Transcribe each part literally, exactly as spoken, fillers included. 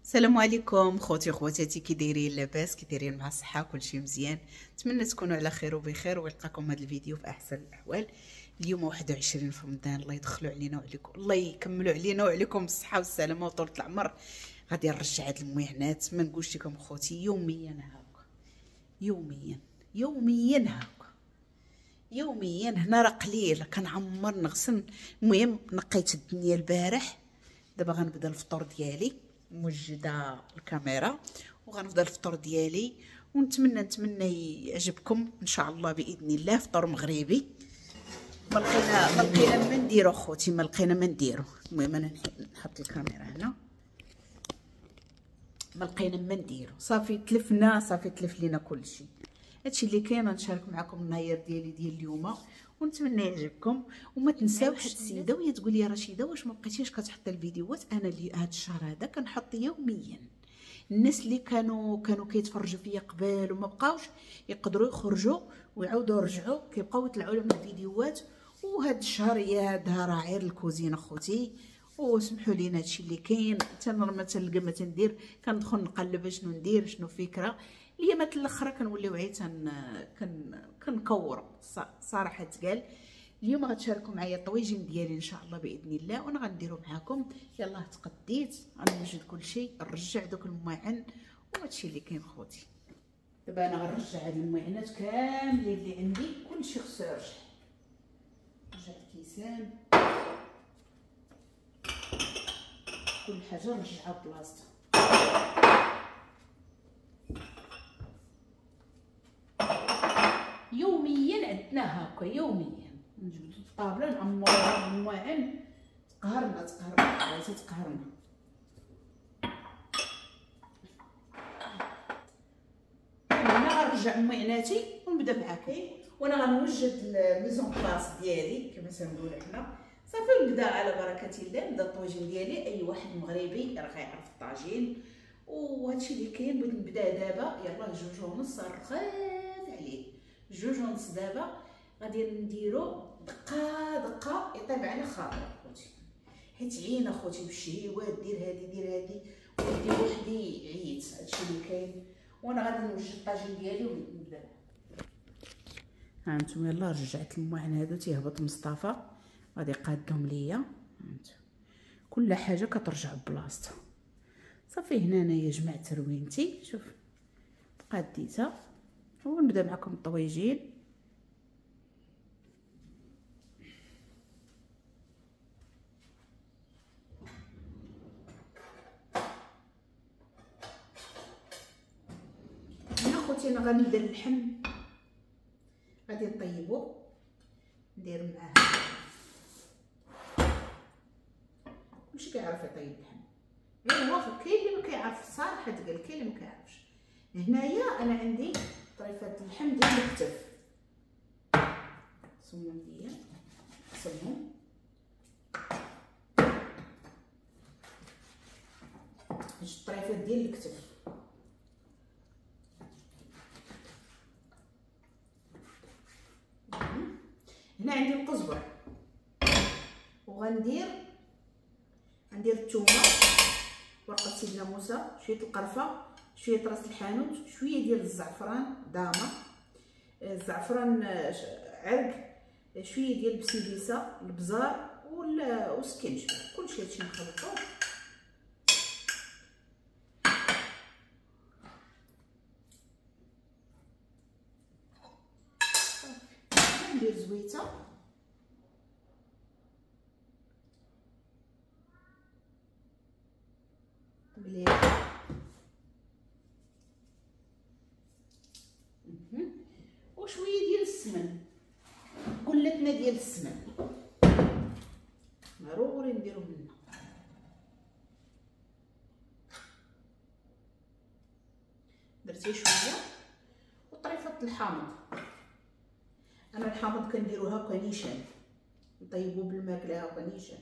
السلام عليكم خوتي وخواتاتي، كي دايرين؟ لاباس؟ كي دايرين مع الصحة؟ كلشي مزيان؟ نتمنى تكونوا على خير وبخير ويلقاكم هذا الفيديو في احسن الاحوال. اليوم واحد وعشرين في رمضان، الله يدخلوا علينا وعليكم، الله يكملوا علينا وعليكم بالصحة والسلامة وطولة العمر. غادي نرجع هاد المعانات، ما نقولش لكم خوتي يوميا هاكا، يوميا يوميا هاكا يوميا. هنا راه قليل كنعمر نغسل. المهم نقيت الدنيا البارح، دابا غنبدا الفطور ديالي، موجده الكاميرا وغنبدا الفطور ديالي، ونتمنى نتمنى يعجبكم ان شاء الله باذن الله. فطور مغربي، ما لقينا ما لقينا ما نديرو خوتي، ما لقينا ما نديرو. المهم انا نحط الكاميرا هنا، ما لقينا ما نديرو، صافي تلفنا، صافي تلف لينا كلشي. هادشي اللي كاين غنشارك معكم النهار ديالي ديال اليوم، ونتمنى يعجبكم. وما تنساو واحد السيدة وهي تقول لي رشيده واش ما بقيتيش كتحطي الفيديوهات؟ انا اللي هاد الشهر هذا كنحط يوميا. الناس اللي كانوا كانوا كيتفرجوا فيا قبل وما بقاوش يقدروا يخرجوا ويعاودوا يرجعوا، كيبقاو يطلعوا لهم الفيديوهات. وهاد الشهر يا هادها راه غير الكوزينة خوتي، وسمحوا لينا هادشي اللي كاين. حتى انا ما تنلقى ما تندير، كندخل نقلب شنو ندير شنو فكرة. اليامات الاخرى كنوليو عي تن كن كنكوروا صراحة تقال. اليوم غتشاركوا معايا الطويجين ديالي ان شاء الله باذن الله، وانا غنديرو معاكم. يلاه تقديت غنوجد كلشي، نرجع دوك المواعن وهادشي اللي كاين خوتي. دابا انا غنرجع هاد المواعنات كاملين اللي عندي، كلشي خصو يرجع. رجع الكيسان، كل حاجة نرجعها بلاصتها. يوميا عندنا هاكا، يوميا نجبدو الطابله نعمروها بالمواعن. تقهرنا تقهرنا بغيتي تقهرنا. انا غنرجع معناتي ونبدا معاكم، وانا غنوجد ال mise en place ديالي كما تنقولوا حنا. صافي نبدا على بركة الله، نبدا الطاجين ديالي. اي واحد مغربي راه غيعرف الطاجين وهادشي اللي كاين. بغيت نبدا دابا، يلاه جوج ونص رخات عليه، جوج ونص دابا غادي نديرو دقه دقه يطيب على خاطر خوتي، حيت عينا خوتي بالشهيوات، دير هادي دير هادي ودي وحدي، عييت. هادشي اللي كاين، وانا غادي نوجد الطاجين ديالي ونبدا. ها انتم يلاه رجعت المواعن هادو، تيهبط مصطفى غادي يقادهم ليا. كل حاجة كترجع بلاصتها. صافي هنا انايا جمعت روينتي، شوف قاديتها، ونبدا معكم الطويجين. هنا خوتي انا غندير اللحم، غادي نطيبو، ندير معاه. كلشي كيعرف يطيب اللحم، غير هو كاين اللي ما كيعرف الصراحة تقال، كاين اللي ما كيعرفش. هنايا انا عندي طريفات اللحم ديال الكتف، سمهم ليا سمهم. جوج طريفات ديال الكتف. هنا عندي القزبر، وغندير غندير الثومه، ورقة سيدنا موسى، شوية القرفه، شوية راس الحانوت، شوية ديال الزعفران دامه، الزعفران عرق، شوية ديال البسيبيسه، البزار والسكنجبير. كلشي هادشي نخلطوه. ندير زويته، مليح، وشوية ديال السمن، قلتنا ديال السمن ضروري نديرو منه. درتي شوية وطريفه الحامض. انا الحامض كنديرو هكا نيشان، نطيبو بالماكله هكا نيشان،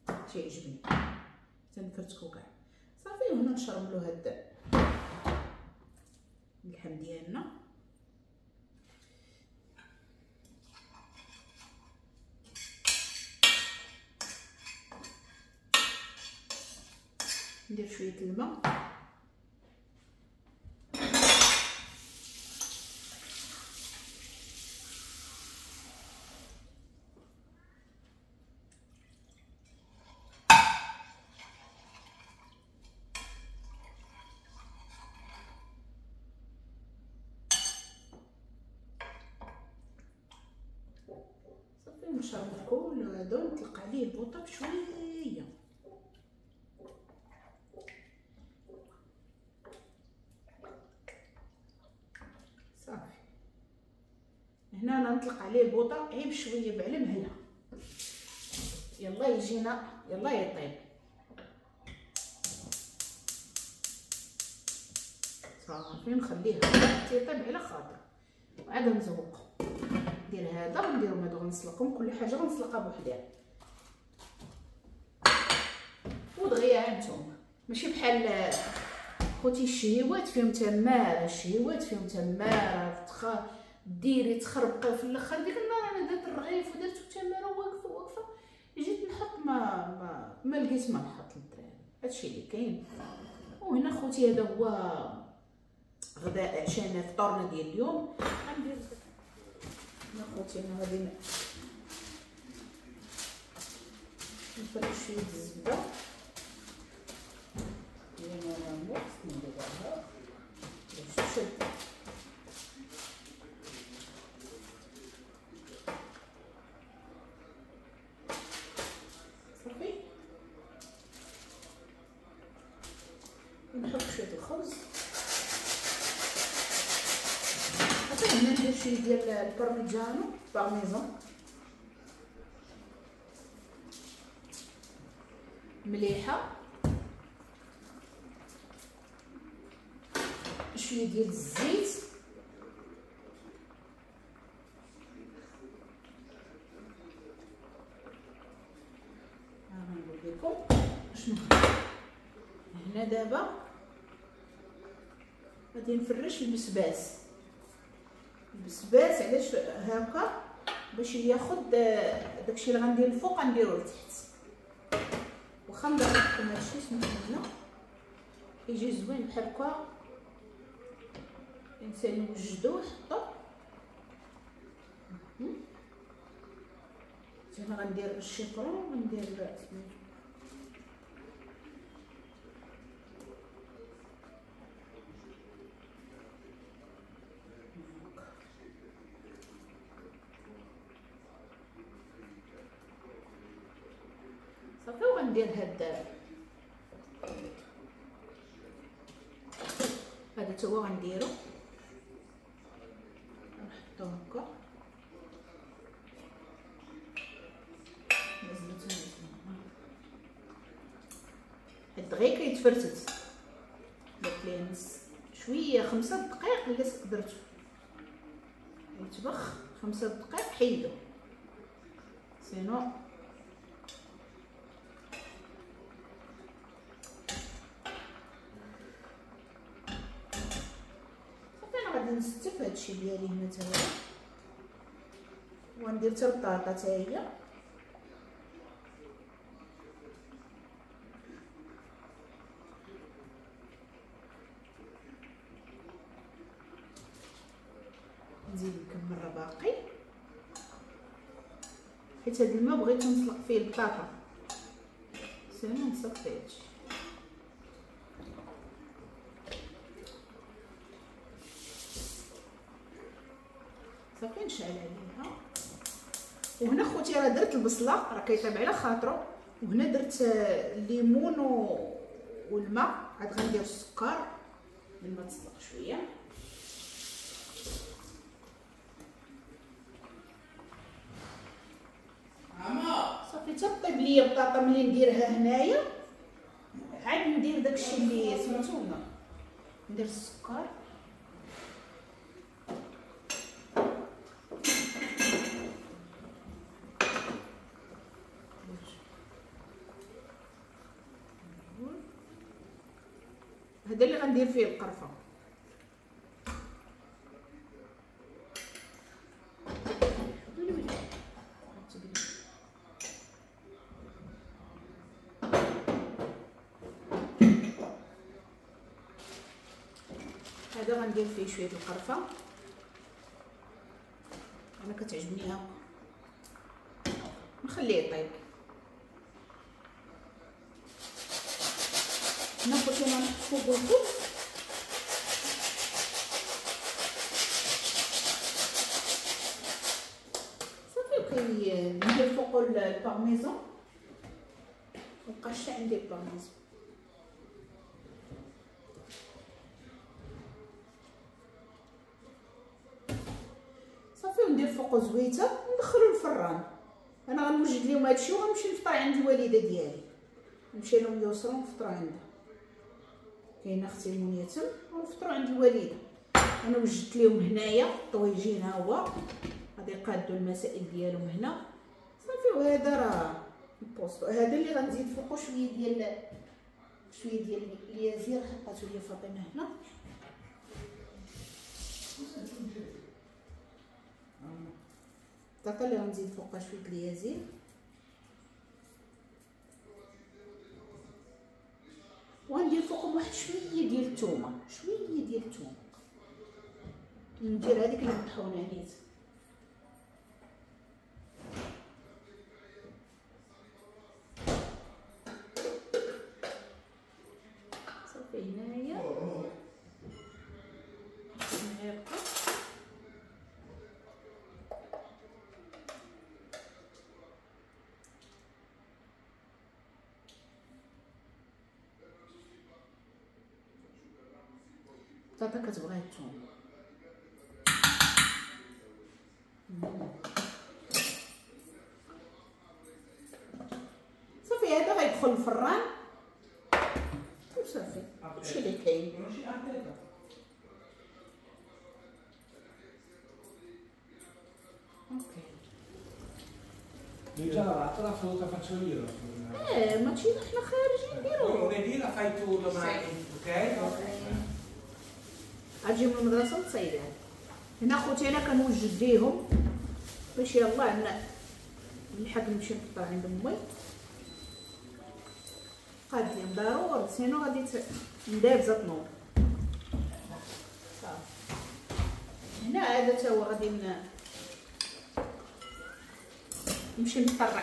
تيعجبني تنفرتكو كاع. صافي وهنا نشرملو هاد اللحم ديالنا. ندير شوية الماء. صافي نشرب كل هذا ونطلق عليه البوطه بشوية. صافي هنا انا نطلق عليه البوطه غير بشوية بعلى مهله، يلا يجينا يلا يطيب. صافي نخليه حتى يطيب على خاطر، وعاد نزوق. ندير هذا ونديرهم هادو، غنسلقهم كل حاجة غنسلقها بوحدها ودغيا. هانتوما ماشي بحال خوتي الشهيوات فيهم تماره، الشهيوات فيهم تماره تخ ديري تخربقي في الاخر. ديك النهار انا درت الرغيف ودرت تماره واقفة واقفة، جيت نحط ما ما, ما لقيت ما نحط للدراري. هادشي اللي كاين. وهنا خوتي هذا هو غداء عشانا فطورنا ديال اليوم. غندير هنا خوتي انا غادي نفرش شوية الزبدة هي normalement خصني نديرها باش تشد. صافي نحط شوية الخبز. هنا ندير شوية ديال ال parmigiano parmesan مليحة، شوية ديال الزيت، ها غنقول لكم شنو هنا. دابا غادي نفرش البسباس. البسباس علاش هكا؟ باش ياخد داكشي اللي غندير الفوق غنديرو لتحت. واخا ندير لكم هادشي سمحوا لنا يجي زوين بحال هكا. الانسان يوجدو ويحطو. هنا غندير الشيفرون وندير سميتو صافي. وغندير هاد هذا تا هو غنديرو نحطو هكا. نزلتو حيت دغيا كيتفرتت. درت ليه نص شوية خمسة دقائق اللي درتو يطبخ خمسة دقائق حيدو، sinon نستف هادشي ديالي هنا تا هو، وندير حتى البطاطا تا هي. نزيد نكمل راه باقي، حيت هاد الماء بغيت نسلق فيه البطاطا، sinon نصفي هادشي. صافي نشعل عليها. وهنا خوتي راه درت البصله راه كيطيب على خاطرو، وهنا درت الليمون والماء، عاد غندير السكر من ما تسلق شوية. صافي تطيب ليا البطاطا ملي نديرها هنايا، عاد ندير داكشي اللي سميتو، ندير السكر. هذا اللي غندير فيه القرفه. هذا غندير فيه شوية القرفه، انا كتعجبني هكا، نخليه يطيب. ناخذ انا نحط فوق الخبز. صافي كي ندير فوق البارميزون، مبقاش عندي البارميزون. صافي وندير فوقو زويته وندخلو الفران. انا غنوجد لهم هادشي وغنمشي نفطر عند الوالدة ديالي، نمشي لهم يسرا ونفطروا عندها، كاينه اختي المنية تم، ونفطروا عند الوالدة. انا وجدت لهم هنايا الطويجين، ها هو غادي يقادوا المسائل ديالهم هنا. صافي وهذا راه البوستو، هذا اللي غنزيد فوقو شوية ديال شوية ديال اليازير حطاتو لي فاطمة هنا. الطاقة اللي غنزيد فوقها شوية اليازير. وغندير فوقهم واحد شوية ديال الثومه، شوية ديال الثومه ندير هذيك اللي مطحونه نيت. صافي هنايا هنايا بطاطا كتبغي الثوم. صافي هذا غيدخل الفران وصافي، هادشي اللي كاين. okay già lavata la frutta, faccio io la frutta. Eh, ma ci احنا خارجين نديرو. Lunedì la fai tu domani, ok? Ok. غتجي من المدرسة وتصايبها. هنا خوتي انا كنوجد ليهم باش يلاه نلحق نمشي نفطر عند امي. قاد ليهم ضروري sinon غادي ندابزه تنوض. صافي هنا هذا تا هو غادي نمشي نفطر،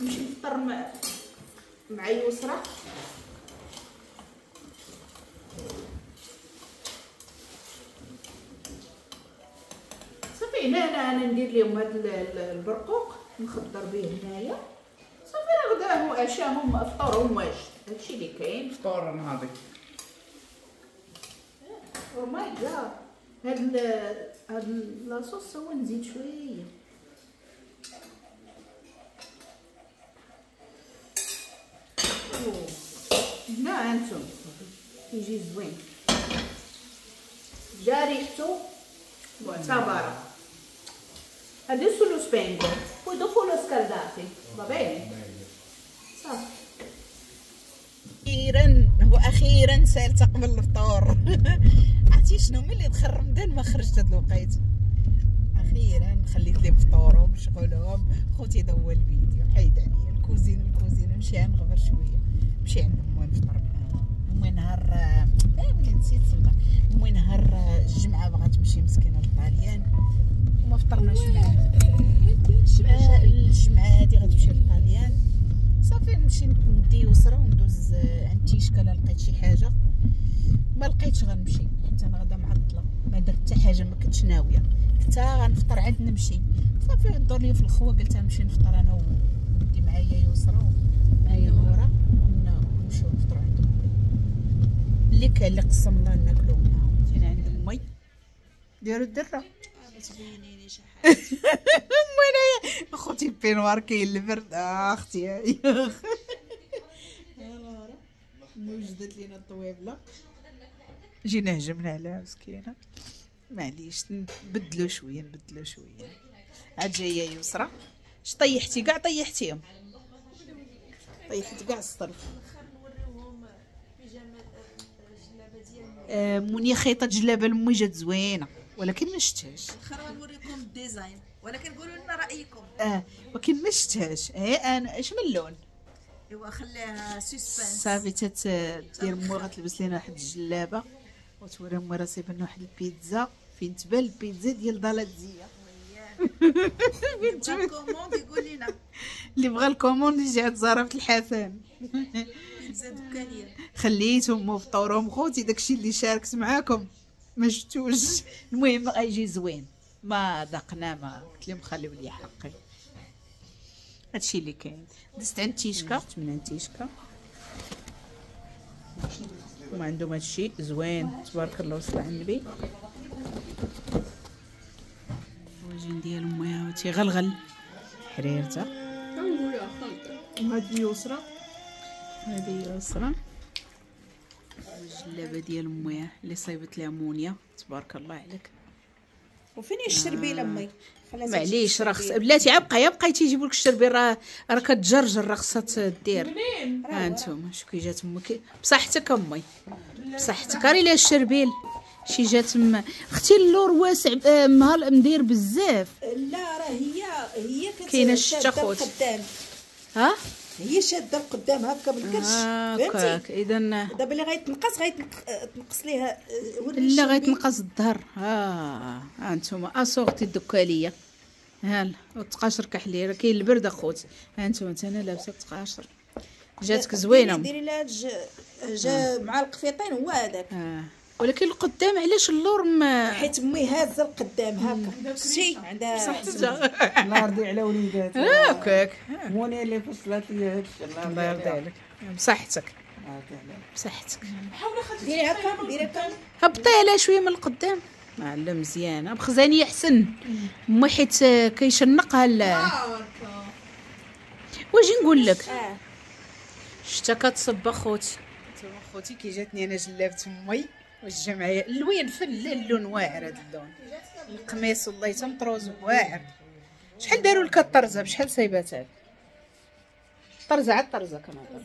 نمشي نفطر مع مع يسرا. صافي هنا انا انا ندير لهم هاد البرقوق نخضر به هنايا. صافي راه غداهم وعشاهم فطورهم واجد، هادشي اللي كاين. فطور نهضي oh my God. هاد هاد la sauce هو نزيد شوية. هنا هانتوما كيجي زوين، جا ريحتو معتبره. Adesso lo spengo, poi dopo lo scaldate, va bene? صافي. اخيرا واخيرا سالت قبل الفطور. عرفتي شنو، ملي دخل رمضان ما خرجت هاد الوقيت. اخيرا خليت لهم فطورهم شغلهم. خوتي هذا هو الفيديو، حيد عليا الكوزين الكوزين نمشي نغبر شوية، نمشي عند امي نفطر معاها. امي نهار اه ولي نسيت امي نهار الجمعة بغات تمشي مسكينه للطاليان وما فطرناش معاها. الجمعة هادي غتمشي للطاليان. صافي نمشي ندي يسرا وندوز عند تيشكا لا لقيت شي حاجة، ما لقيتش غنمشي حيت انا غدا معطلة، ما درت حتى حاجة، ما كنتش ناوية حتى غنفطر عاد نمشي. صافي دور لي في الخوا قلت غنمشي نفطر انا وندي معايا يسرا ومعايا نوره ونمشيو نفطروا عند امي. اللي كان اللي قسم الله ناكلو معاهم. جينا عند امي ديروا الدرة ما تبينيني شي حاجة. امي انايا خوتي peignoir كاين البرد. آه اختي يا نوره وجدت لينا الطويبله، جينا هجمنا عليها مسكينه. معليش نبدلو شوية نبدلو شوية. عاد جاية يسرا. اش طيحتي كاع؟ طيحتيهم، طيحت كاع الصرف. آه مني خيطه جلابه لامي جات زوينة ولكن ما شتهاش. الاخر غنوريكم ال design ولكن قولوا لنا رايكم. اه ولكن ما شتهاش. اه انا اش من اللون؟ ايوا خليها suspense. صافي تدير مو غتلبس لينا واحد الجلابه وتوري امي راه صايبه لنا واحد البيتزا فين تبان البيتزا ديال دالاتزيه. اللي بغى ال commande يقول لنا، اللي بغى ال commande يجي عند زهره الحسن. بيتزا دكانيه. خليتهم فطورهم خوتي، داكشي اللي شاركت معاكم ما شفتوش. المهم غيجي زوين، ما ذقنا ما قلت لهم خليو لي حقي. هادشي اللي كاين. دزت عند تيشكا، من عند تيشكا هما عندهم هادشي زوين تبارك الله وصل على النبي. الوجين ديال امي ها تيغلغل حريرته. وهادي يسرى، هادي يسرى الجلابه ديال امي اللي صايبت لها مونيا تبارك الله عليك. وفين هي الشربيله امي؟ معليش راه خص بلاتي عا بقى بقى تيجيبوا لك الشربيل، راه راه كتجرجر راه خصها دير. ها انتم شو كي جات امك بصحتك امي بصحتك. راه الا الشربيل شي جات م... اختي اللور واسع مهال مدير بزاف. لا راه هي هي كاينه الشتا خوت ها هي شاده القدام هكا بالكرش فهمتي. اذا دابا اللي غيتنقص غيتنقص ليها لا غيتنقص الظهر. ها ها انتم اسورتي الدكاليه ها التقاشر كحلي راه كاين البرد اخوت. ها انتم انا لابسه التقاشر جاتك زوينة. ديري لها جا مع القفيطين هو هذاك. آه. ولكن القدام علاش اللور ما حيت امي هازه القدام هكا شتي عندها صحتها. الله يرضي على وليداتها هكاك موني اللي فصلت لي هادشي. الله يرضي عليك بصحتك بصحتك. ديري هكا ديري هكا هبطي عليها شوية من القدام. لا مزيانه بخزانيه احسن امي حيت كيشنقها. واجي نقول لك الشتا كتصب اخوتي. نتوما خوتي كي جاتني انا جلابه امي واش جا معايا اللوين فن اللون واعر هذا اللون القميص والله تمطروز واعر. شحال داروا لك الطرزه بشحال صايباتها الطرزه؟ على الطرزه كنهضر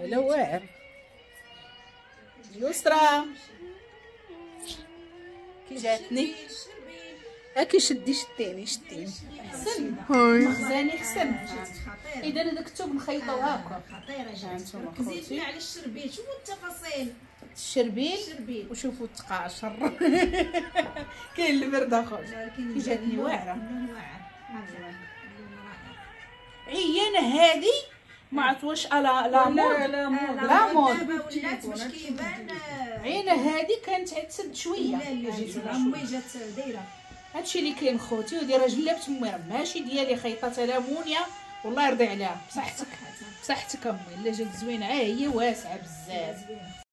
لا واعر. يسرى كي جاتني هاكي شدي شديني شديني حسن مخزاني حسن. اذا هذاك الثوب مخيطو هكا خطيرة جات. زيدنا على الشربيل شوفوا التفاصيل الشربيل وشوفوا التقاشر. كاين البرد اخويا كي جاتني واعرة عيانه هذه ما عرفت واش لا la mode la mode ولات باش كيبان عينه هذه كانت تسد شوية. لا لا امي جات دايرة هادشي اللي كاين خوتي. ودي راه جلابه امي راه ماشي ديالي خيطاتها لها مونيا والله يرضي عليها. بصحتك بصحتك امي لا جات زوينة. ها هي واسعة بزاف.